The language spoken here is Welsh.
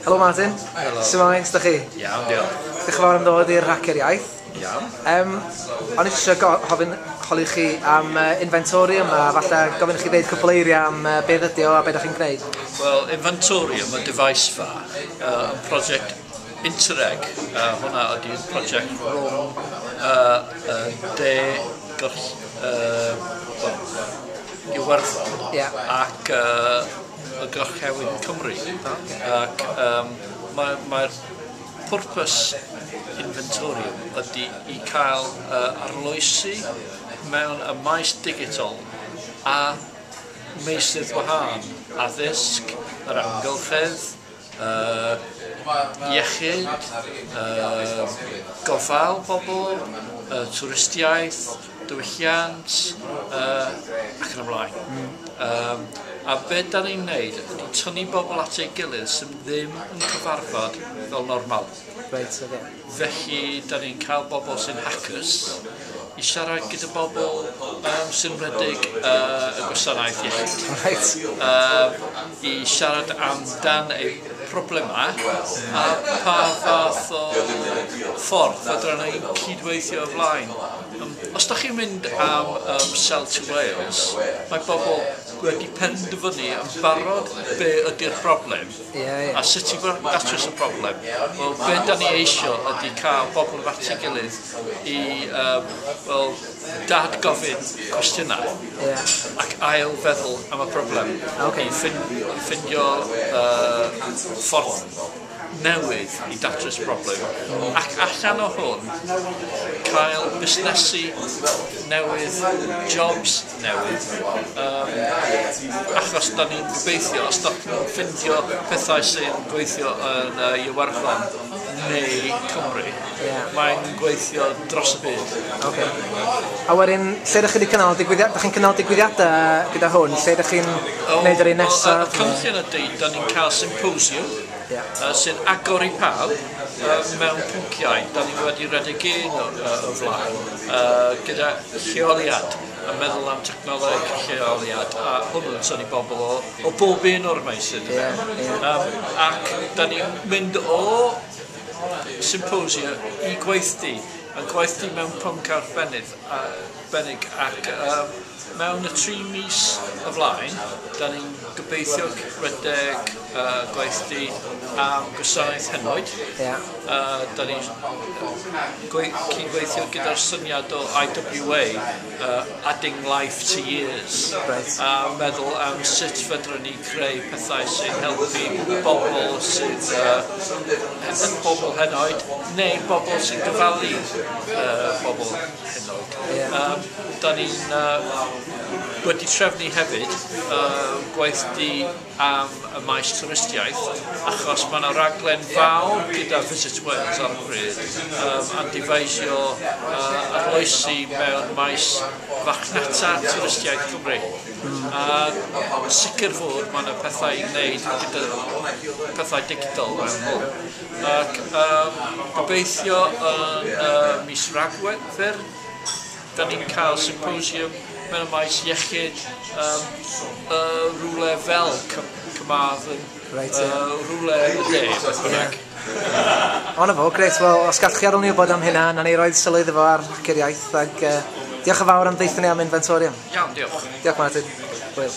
Helo Martin. Helo. Shwmae, sut 'dach chi? Iawn, diolch. Diolch yn fawr am ddod i'r Hacer Iaith. Iawn. O'n i jyst eisiau gofyn, holi chi am Inventorium a falle gofyn i chi ddeud cwpl eiriau am beth ydi o a beth ydych chi'n gwneud. Wel, Inventorium, y device fa, yn prosiect Interreg. Hwnna ydy'r prosiect rhwng de well, Iwerddon ac y Gorllewin Cymru. Ac mae'r pwrpas Inventorium ydy i cael arloesi mewn y maes digidol a meysydd wahân, addysg, yr amgylchedd, iechyd, gofal pobl, twristiaeth, diwylliant, ac yn y blaen. A be da ni'n neud ydy tynnu bobl at ei gilydd sydd ddim yn cyfarfod fel normal. Reit, oce. Felly, da ni'n cael bobl sy'n hackers i siarad gyda bobl sy'n rhedeg y gwasanaeth iechyd. I siarad amdan eu problemau a pa fath o ffordd fedra ni cydweithio o flaen. Os da chi'n mynd am Sell to Wales, mae bobl wedi penderfynu yn barod be ydy'r broblem a sut i datrys y broblem. Wel, be da ni eisio ydy cael bobl at ei gilydd i wel, dad-gofyn cwestiynau ac ail feddwl am y broblem. I ffindio ffordd newydd i datrys problem. Ac allan o hwn, cael busnesu newydd, jobs newydd, achos da ni'n gobeithio, os da chi'n ffindio pethau sy'n gweithio yn Iwerddon neu Cymru, mae'n gweithio dros y byd. Okay. A wedyn, lle ydych chi wedi cynnal digwyddiadau? Ydych chi'n cynnal digwyddiadau gyda hwn? Lle ydych chi'n gwneud yr un nesaf? Y cynllun ydy, da ni'n cael symposiwm sy'n agor i pawb mewn pynciau. Da ni wedi rhedeg un o flaen gyda lleoliad, yn meddwl am technoleg lleoliad, a hwnnw'n tynnu bobl o bob un o'r meysydd. Ac da ni'n mynd o symposia i gweithdy, a gweithdy mewn pwnc arbennig, ac mewn y 3 mis o flaen, da ni'n gobeithio rhedeg gweithdy am gwasanaeth henoed. Da ni'n cydweithio gyda'r syniad o IWA, Adding Life to Years, a meddwl am sut fedrwn ni creu pethau sy'n helpu bobl sydd bobl henoed, neu bobl sy'n gofalu bobl henoed. Da ni'n wedi trefnu hefyd gweithdy am y maes twristiaeth, achos mae yna raglen fawr gyda Visit Wales ar y pryd am dyfeisio arloesi mewn maes farchnata twristiaeth Cymru. A sicr fod mae yna pethau i wneud gyda pethau digidol mewn hwn. Ac gobeithio yn mis Rhagfyr, da ni'n cael symposiwm mewn y maes iechyd rhywle fel Carmarthen, rhywle yn y de, beth bynnag. O, na fo, grêt. Wel, os gallwch chi adael ni wybod am hynna, na ni roed sylw iddo fo ar Hacer Iaith, ac diolch yn fawr am ddeutha ni am Inventorium. Iawn, diolch. Diolch, Martin. Hwyl.